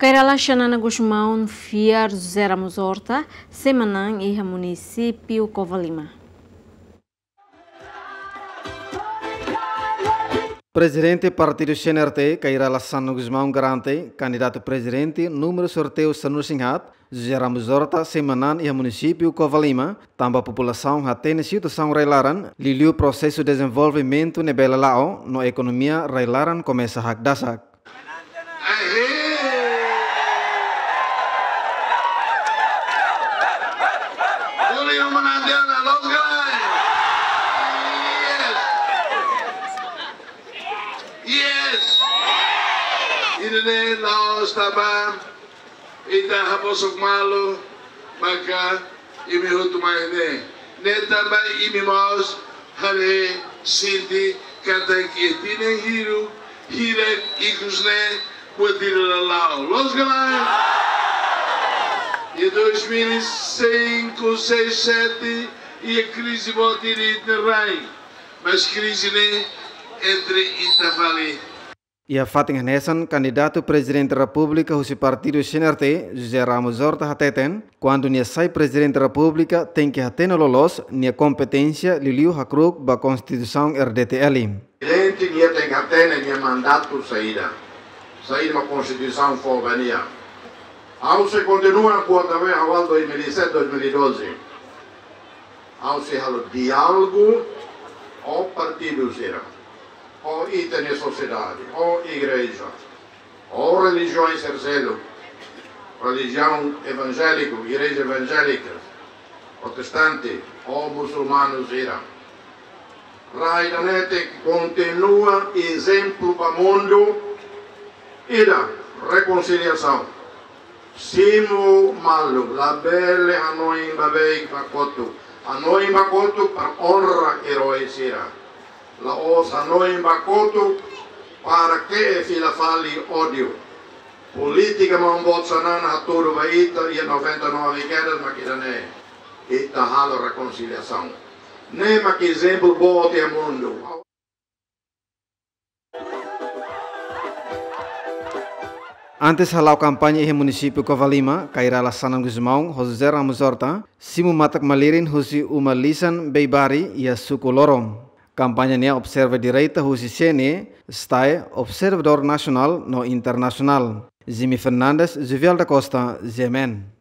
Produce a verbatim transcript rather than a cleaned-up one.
Kay Rala Xanana Gusmão fiar José Ramos Horta, sei manán iha munisípiu Covalima. Prezidente Partidu C N R T, Kay Rala Xanana Gusmão garante kandidatu prezidente númeru sorteiu sanulu-resin-haat, José Ramos Horta, sei manán iha munisípiu Covalima, tanba populasaun hatene situasaun rai-laran, liuliu prosesu dezenvolvimentu ne'ebé la'o, no ekonomia rai-laran komesa hakdasak. Aê! Uli uma nandiana, los galai! Yes! Yes! Ida-ne'e la'ós tanba ita habosok malu, maka imi hotu mai ne'e. Ne'e tanba imi mós haree, sente katak iha tinan hiru hirak ikus ne'e buat ida la la'o. Los galai! Iha dois mil e cinco, seis, sete, iha krize boot ida iha ita-nia rai. Mas krize ne'e entre ita fali. Iha fatin hanesan, kandidatu Prezidente Repúblika husi Partidu C N R T, José Ramos Horta hateten, kuandu nia sai Prezidente Repúblika, tenke hatene loloos nia kompeténsia, liuliu hakru'uk ba Konstituisaun R D T L. Prezidente nia tenke hatene nia mandatu saida, saida mak Konstituisaun fó ba nia. Ha'u sei kontinua kuandu be ha'u dois mil e sete, dois mil e doze. Ha'u sei halo diálogu ho partidu sira, ho ita-nia sosiedade, ho igreja, ho relijiaun sira seluk, relijiaun evanjéliku, igreja evangélica, protestante, ho musulmanu sira. Rai ida-ne'e tenke kontinua ezemplu ba mundu, ida, rekonsiliasaun. Simu malu, labele hanoin ba beik ba kotuk. Hanoin ba kotuk para onra erói sira. La'ós hanoin ba kotuk para ke'e fila fali ódiu. Polítika maun-boot Xanana hatudu ba ita iha noventa e nove kedas mak ida-ne'e. Ita halo rekonsiliasaun. Ne'e mak ezemplu boot iha mundu. Antes hala'o kampaña iha munisípiu Covalima, Kay Rala Xanana Gusmão ho José Ramos Horta simu matak-malirin husi uma lisan Beibari iha suku Lorom. Kampaña nian observa direta husi C N E, STAE, observadór nasionál no internasionál. Jimmy Fernandes, Juvial da Costa, G M N.